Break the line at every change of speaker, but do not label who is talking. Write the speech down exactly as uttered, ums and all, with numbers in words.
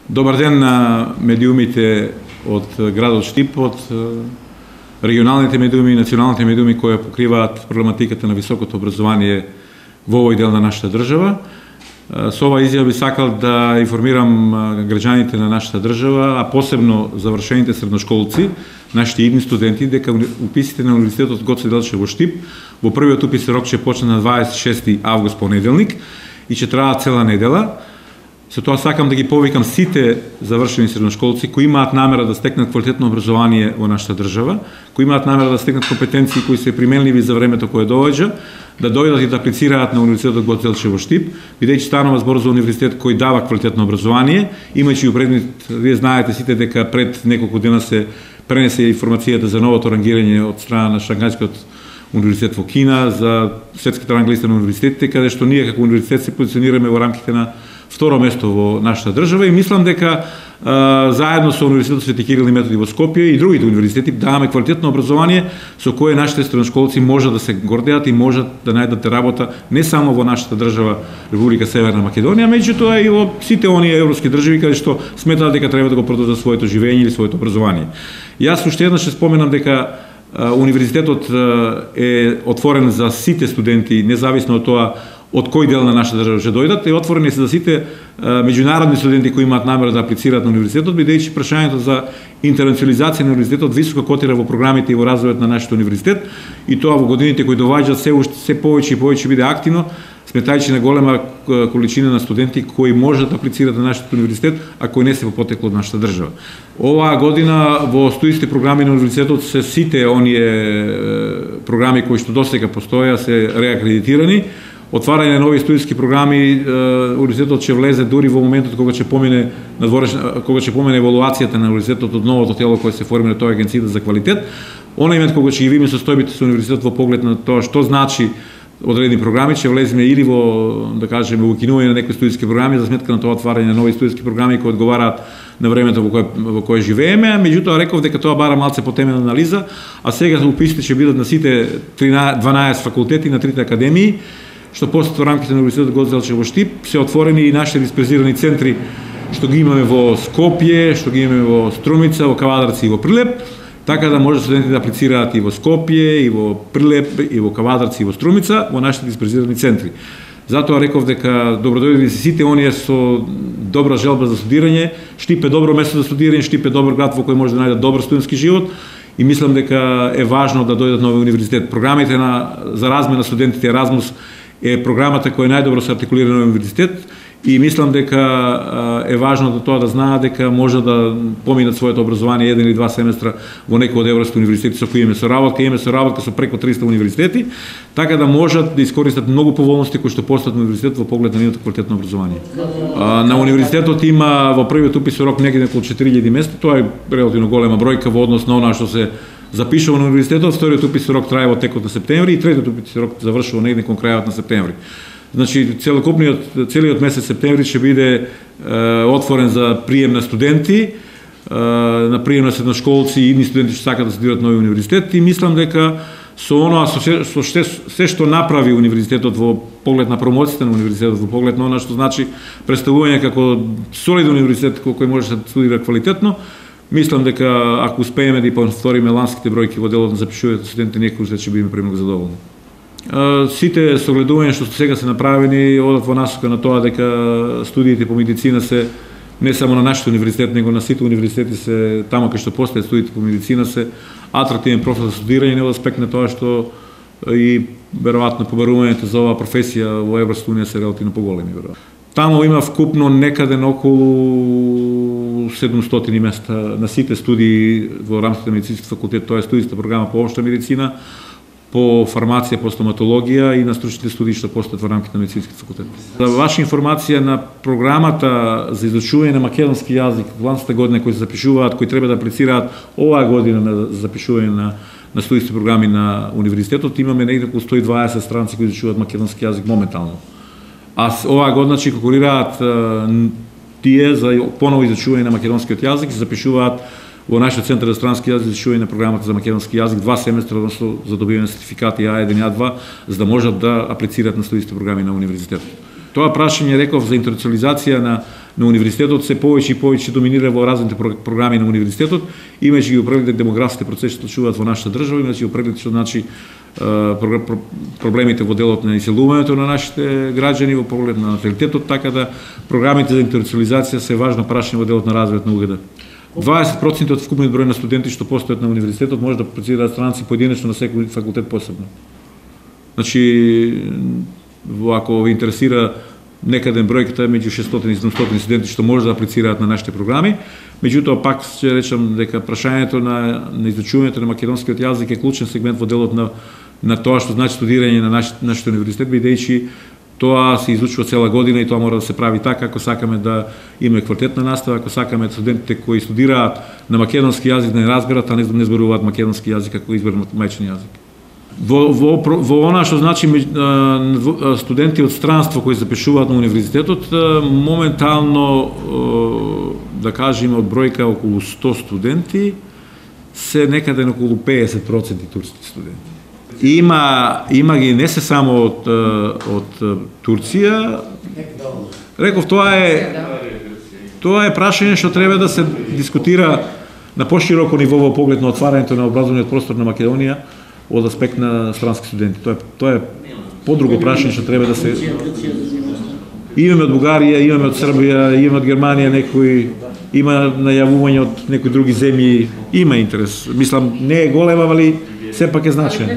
Добар ден на медиумите од градот Штип, од регионалните медиуми и националните медиуми кои покриваат проблематиката на високото образование во овој дел на нашата држава. Со ова изјава би сакал да информирам граѓаните на нашата држава, а посебно завршените средношколци, нашите идни студенти, дека уписите на Универзитетот Гоце Делчев во Штип во првиот уписен рок ќе почне на дваесет и шести август понеделник и ќе трае цела недела. Со тоа сакам да ги повикам сите завршени средношколци кои имаат намера да стекнат квалитетно образование во нашата држава, кои имаат намера да стекнат компетенции кои се применливи за времето кое доаѓа, да дојдат и да аплицираат на Универзитетот Гоце Делчев во Штип, бидејќи станува збор за универзитет кој дава квалитетно образование, имајќи у предвид, вие знаете сите дека пред неколку дена се пренесе информацијата за новото рангирање од страна на Шангајскиот универзитет во Кина за светската ранглиста на универзитетите, каде што ние како универзитет се позиционираме во рамките на второ место во нашата држава и мислам дека а, заедно со Универзитетот Свети Кирил и Методи во Скопје и другите универзитети даваме квалитетно образование со кое нашите средношколци можат да се гордеат и можат да најдат работа не само во нашата држава Република Северна Македонија, меѓутоа и во сите оние европски држави каде што сметаат дека треба да го продолжат своето живење или своето образование. Јас уште еднаш ќе споменам дека а, универзитетот а, е отворен за сите студенти, независно од тоа од кој дел на нашата држава ќе дојдат, и отворени се за сите а, меѓународни студенти кои имаат намера да аплицираат на универзитетот, бидејќи прашањето за интернационализација на универзитетот високо котира во програмите и во развојот на нашиот универзитет, и тоа во годините кои доаѓаат се уште се повеќе и повеќе биде активно, сметајќи на голема количина на студенти кои можат да аплицираат на нашиот универзитет, а кои не се во потекло од нашата држава. Оваа година во студиите програми на универзитетот се сите оние програми кои што досега постоја се реакредитирани. Отварање на нови студиски програми, универзитетот ќе влезе дури во моментот кога ќе помине надвореш, кога ќе помине евалуацијата на универзитетот од новото тело кое се формира, тоа е Агенцијата за квалитет. Онај момент кога ќе ги видиме состојбите со универзитетот во поглед на тоа што значи одредени програми, ќе влеземе или во, да кажеме, во укинување на некои студиски програми за сметка на тоа отварање на нови студиски програми кои одговараат на времето во кое, во кое живееме, меѓутоа реков дека тоа бара малце потемена анализа, а сега уписите ќе бидат на сите дванаесет факултети на трите академии, што после во рамките на Универзитетот Гоце Делчев во Штип се отворени и нашите дисперзирани центри што ги имаме во Скопје, што ги имаме во Струмица, во Кавадарци и во Прилеп, така да може студентите да аплицираат и во Скопје, и во Прилеп, и во Кавадарци и во Струмица, во нашите дисперзирани центри. Затоа реков дека добродојдени се сите оние со добра желба за студирање. Штип е добро место за студирање, Штип е добар град во кој може да најдат добар студентски живот и мислам дека е важно да дојдат нови универзитет. Програмите на за размена на студентите Еразмус е програмата која најдобро се артикулира на универзитет и мислам дека е важно да тоа да знаат дека може да поминат своето образование еден или два семестра во некој од европските универзитети со кои имаме соработка, имаме соработка со преку триста универзитети, така да можат да искористат многу поволности кои што постојат на универзитет во поглед на нивното квалитетно образование. На универзитетот има во првиот уписен рок негде околу четири илјади места, тоа е релативно голема бројка во однос на она што се запишува на универзитетот. Вториот уписен рок трае во текот на септември и третиот уписен рок завршува негде кон крајот на септември. Значи, целокупниот, целиот месец септември ќе биде е, отворен за прием на студенти, е, на прием на средношколци и идни студенти што сакаат да студираат нови универзитет, и мислам дека со оноа, со се, со се, се што направи универзитетот во поглед на промоцијата на универзитетот, во поглед на она што значи представување како солиден универзитет кој може да студира квалитетно, мислам дека ако успееме да повториме ланските бројки во делот на запишување студенти, некој ќе бидеме премногу задоволни. Сите согледувања што сега се направени одат во насока на тоа дека студиите по медицина се не само на нашиот универзитет, него на сите универзитети се таму кај што постојат студиите по медицина се атрактивен профил за студирање, од аспект на тоа што и веројатно побарувањето за оваа професија во Европската унија се релативно поголеми веројатно. Таму има вкупно некаде на околу седумстотини места на сите студии во рамките на медицинскиот факултет, тоа е студијска програма по општа медицина, по фармација, по стоматологија и на стручните студии што постојат во рамките на медицинскиот факултет. За ваша информација, на програмата за изучување на македонски јазик во ланската година кои се запишуваат, кои треба да аплицираат оваа година на запишување на на студиски програми на универзитетот, имаме негде околу сто и дваесет странци кои изучуваат македонски јазик моментално. А оваа година ќе конкурираат тие за поново изучување на македонскиот јазик, се запишуваат во нашиот центар за странски јазик, изучување на програмата за македонски јазик, два семестра, односно за добивање на сертификати А еден и А два, за да можат да аплицираат на студиски програми на универзитетот. Тоа прашање, реков, за интернационализација на, на универзитетот се повеќе и повеќе доминира во разните програми на универзитетот, имајќи ги преглед демографските процеси што случуваат во нашата држава, имајќи го преглед што значи проблемите во делот на иселувањето на нашите граѓани, во поглед на наталитетот, така да програмите за интернационализација се важно прашање во делот на развојот на УГД. дваесет проценти од вкупниот број на студенти што постојат на универзитетот може да процедираат странци поединечно на секој факултет посебно. Значи, ако ви интересира некаден бројката е меѓу шестстотини и седумстотини студенти што може да аплицираат на нашите програми, меѓутоа пак ќе речам дека прашањето на, на изучувањето на македонскиот јазик е клучен сегмент во делот на, на тоа што значи студирање на наш, нашите универзитет, бидејќи тоа се изучува цела година и тоа мора да се прави така ако сакаме да имаме квалитетна настава, ако сакаме студентите кои студираат на македонски јазик да не разберат, а не, не зборуваат македонски јазик како изборен мајчин јазик. Во, во, во она што значи студенти од странство кои запишуваат на универзитетот, моментално, да кажеме, од бројка околу сто студенти, се некаде на околу педесет проценти турски студенти. Има, има ги не се само од, од Турција. Реков, тоа е тоа е прашање што треба да се дискутира на пошироко ниво во поглед на отварањето на образовниот простор на Македонија од аспект на странски студенти. Тоа е, тоа е подруго прашање што треба да се... Имаме од Бугарија, имаме од Србија, имаме од Германија некои, има најавување од некои други земји, има интерес. Мислам, не е голема, али сепак е значаен.